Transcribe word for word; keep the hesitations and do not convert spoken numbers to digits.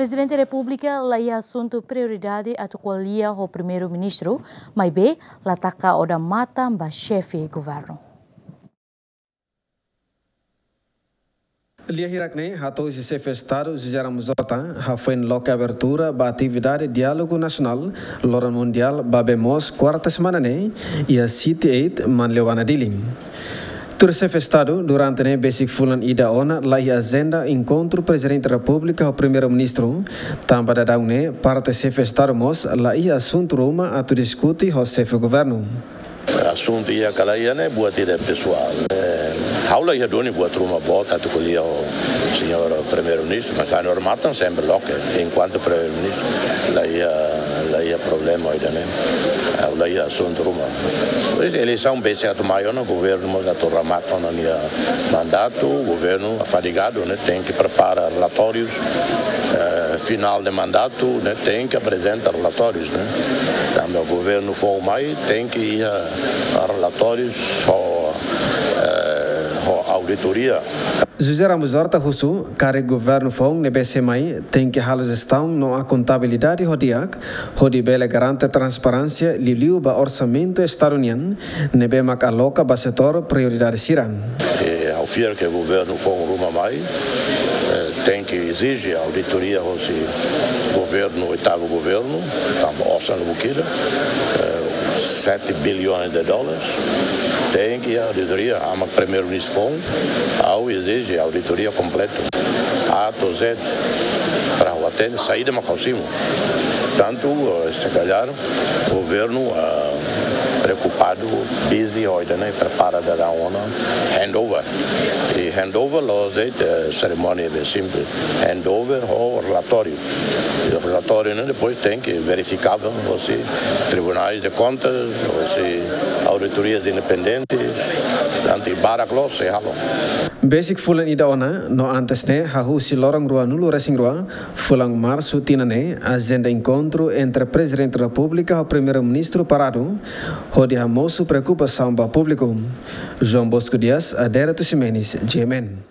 Prezidente Repúblika la iha asuntu prioridade atu ko'alia ho Primeiru-Ministru, maibé la taka odamatan ba xefe governu. Lia hirak-ne'e hato'o husi Xefe Estadu José Ramos Horta, hafoin loke abertura ba atividade diálogu nasionál loron mundiál ba bee moos kuarta semana ne'e, iha City eight, Manleuana, Dili. Tuir Xefe Estadu, durante ne'e besik fulan ida ona la iha ajenda enkontru Prezidente Repúblika ho Primeiru-Ministru, tanba daudaun ne'e parte Xefe Estadu mós la iha asuntu ruma atu diskute ho Xefe Governu. Asuntu iha ka la iha ne'e buat ida pesoál. Eh, ha'u la iha duni buat ruma boot atu ko'alia ho señór Primeiru-Ministru, mas ha'u-nia odamatan sempre loke, enkuantu Primeiru-Ministru la iha, la iha problema ida-ne'e. Ha'u la iha asuntu ruma. Pois, eleisaun besik atu mai ona, governu mós atu remata ona nia mandatu, governu fadigadu, ne'e, tenke prepara relatórius, eh, finál de mandatu, ne'e, tenke aprezenta relatórius, ne'e. Tanba governu foun mai, tenke iha relatórius ho, eh, ho auditoria. José Ramos Horta husu katak governu foun ne'ebé sei mai tenke halo jestaun no akontabilidade ho di'ak, hodi bele garante transparénsia liuliu ba orsamentu Estadu nian, ne'ebé mak aloka ba setór prioridade sira. E ha'u fiar ke governu foun ruma mai, eh, tenke ezije auditoria hosi governu, oitavu governu, tanba osan buat ida, eh, sete bilhões de dólares. Tenke auditoria, ama Primeiru-Ministru foun, ha'u ezije auditoria kompletu. A to Z, para ha'u hatene saida mak ha'u simu. Tantu, eh, se calhar, governu, ah, preokupadu, busy, ho ida-ne'e, prepara daudaun ona handover. I handover la'ós de'it, eh, serimónia be simples. Handover ho relatóriu. I relatóriu ne'e depois tenke verifikável hosi Tribunais de Contas, hosi auditorias independentes, tantu i barak loos sei halo. Besik fulan ida ona, no antes ne'e, hahú husi loron ruanulu-resin-rua, fulan Marsu tinan ne'e, ajenda enkontru entre Prezidente Repúblika ho Primeiru-Ministru paradu, hodi hamosu preokupasaun ba públiku. João Bosco Dias, Adérito Ximenes, G M N.